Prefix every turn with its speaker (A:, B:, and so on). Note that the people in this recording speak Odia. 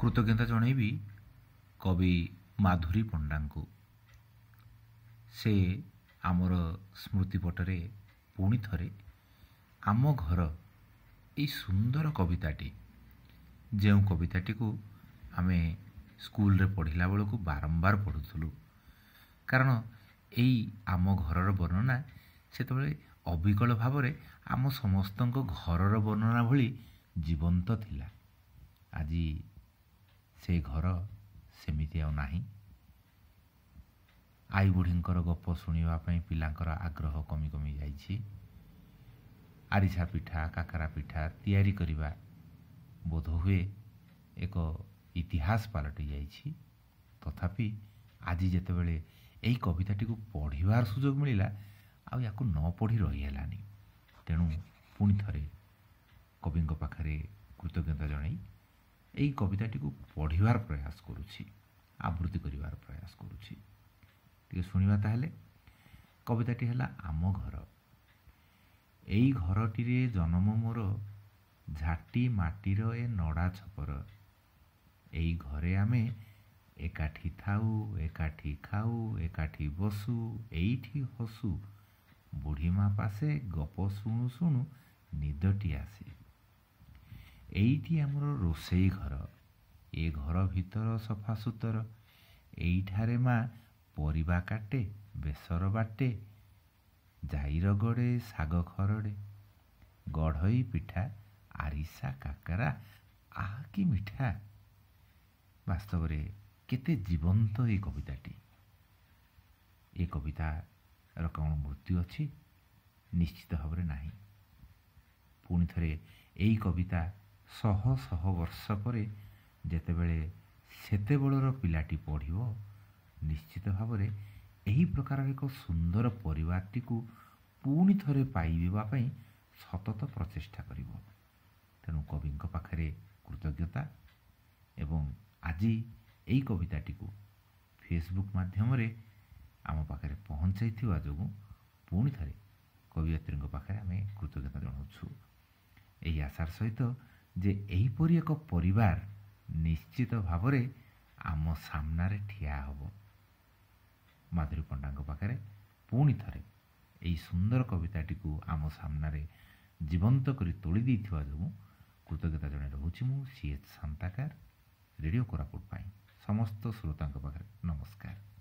A: କୃତଜ୍ଞତା ଜଣାଇବି କବି ମାଧୁରୀ ପଣ୍ଡାଙ୍କୁ। ସେ ଆମର ସ୍ମୃତିପଟରେ ପୁଣି ଥରେ ଆମ ଘର ଏଇ ସୁନ୍ଦର କବିତାଟି, ଯେଉଁ କବିତାଟିକୁ ଆମେ ସ୍କୁଲରେ ପଢ଼ିଲା ବେଳକୁ ବାରମ୍ବାର ପଢ଼ୁଥିଲୁ, କାରଣ ଏଇ ଆମ ଘରର ବର୍ଣ୍ଣନା ସେତେବେଳେ ଅବିକଳ ଭାବରେ ଆମ ସମସ୍ତଙ୍କ ଘରର ବର୍ଣ୍ଣନା ଭଳି ଜୀବନ୍ତ ଥିଲା। ଆଜି ସେ ଘର ସେମିତି ଆଉ ନାହିଁ। ଆଈ ବୁଢ଼ୀଙ୍କର ଗପ ଶୁଣିବା ପାଇଁ ପିଲାଙ୍କର ଆଗ୍ରହ କମି କମି ଯାଇଛି। ଆରିସା ପିଠା, କାକରା ପିଠା ତିଆରି କରିବା ବୋଧହୁଏ ଏକ ଇତିହାସ ପାଲଟି ଯାଇଛି। ତଥାପି ଆଜି ଯେତେବେଳେ ଏହି କବିତାଟିକୁ ପଢ଼ିବାର ସୁଯୋଗ ମିଳିଲା, ଆଉ ୟାକୁ ନ ପଢ଼ି ରହିହେଲାନି। ତେଣୁ ପୁଣି ଥରେ କବିଙ୍କ ପାଖରେ କୃତଜ୍ଞତା ଜଣାଇ ଏହି କବିତାଟିକୁ ପଢ଼ିବାର ପ୍ରୟାସ କରୁଛି, ଆବୃତ୍ତି କରିବାର ପ୍ରୟାସ କରୁଛି। ଟିକେ ଶୁଣିବା ତାହେଲେ। କବିତାଟି ହେଲା ଆମ ଘର। ଏଇ ଘରଟିରେ ଜନମ ମୋର, ଝାଟି ମାଟିର ଏ ନଡ଼ା ଛପର। ଏଇ ଘରେ ଆମେ ଏକାଠି ଥାଉ, ଏକାଠି ଖାଉ, ଏକାଠି ବସୁ, ଏଇଠି ହସୁ। ବୁଢ଼ୀମା ପାଶେ ଗପ ଶୁଣୁ ଶୁଣୁ ନିଦଟି ଆସେ। ଏଇଠି ଆମର ରୋଷେଇ ଘର, ଏ ଘର ଭିତର ସଫାସୁତର। ଏଇଠାରେ ମା ପରିବା କାଟେ, ବେସର ବାଟେ, ଜାଇ ରଗଡ଼େ, ଶାଗ ଖରଡ଼େ। ଗଢ଼ଇ ପିଠା, ଆରିସା କାକରା, ଆହା କି ମିଠା। ବାସ୍ତବରେ କେତେ ଜୀବନ୍ତ ଏ କବିତାଟି। ଏ କବିତାର କ'ଣ ମୃତ୍ୟୁ ଅଛି? ନିଶ୍ଚିତ ଭାବରେ ନାହିଁ। ପୁଣି ଥରେ ଏଇ କବିତା ଶହ ଶହ ବର୍ଷ ପରେ ଯେତେବେଳେ ସେତେବେଳର ପିଲାଟି ପଢ଼ିବ, ନିଶ୍ଚିତ ଭାବରେ ଏହି ପ୍ରକାରର ଏକ ସୁନ୍ଦର ପରିବାରଟିକୁ ପୁଣି ଥରେ ପାଇବା ପାଇଁ ସତତ ପ୍ରଚେଷ୍ଟା କରିବ। ତେଣୁ କବିଙ୍କ ପାଖରେ କୃତଜ୍ଞତା ଏବଂ ଆଜି ଏଇ କବିତାଟିକୁ ଫେସବୁକ୍ ମାଧ୍ୟମରେ ଆମ ପାଖରେ ପହଞ୍ଚାଇଥିବା ଯୋଗୁଁ ପୁଣି ଥରେ କବିୟତ୍ରୀଙ୍କ ପାଖରେ ଆମେ କୃତଜ୍ଞତା ଜଣାଉଛୁ, ଏହି ଆଶାର ସହିତ ଯେ ଏହିପରି ଏକ ପରିବାର ନିଶ୍ଚିତ ଭାବରେ ଆମ ସାମ୍ନାରେ ଠିଆ ହେବ। ମାଧୁରୀ ପଣ୍ଡାଙ୍କ ପାଖରେ ପୁଣି ଥରେ ଏହି ସୁନ୍ଦର କବିତାଟିକୁ ଆମ ସାମ୍ନାରେ ଜୀବନ୍ତ କରି ତୋଳି ଦେଇଥିବା ଯୋଗୁଁ କୃତଜ୍ଞତା ଜଣାଇ ରହୁଛି ମୁଁ ସି ଏଚ୍ ଶାନ୍ତାକାର, ରେଡ଼ିଓ କୋରାପୁଟ ପାଇଁ ସମସ୍ତ ଶ୍ରୋତାଙ୍କ ପାଖରେ ନମସ୍କାର।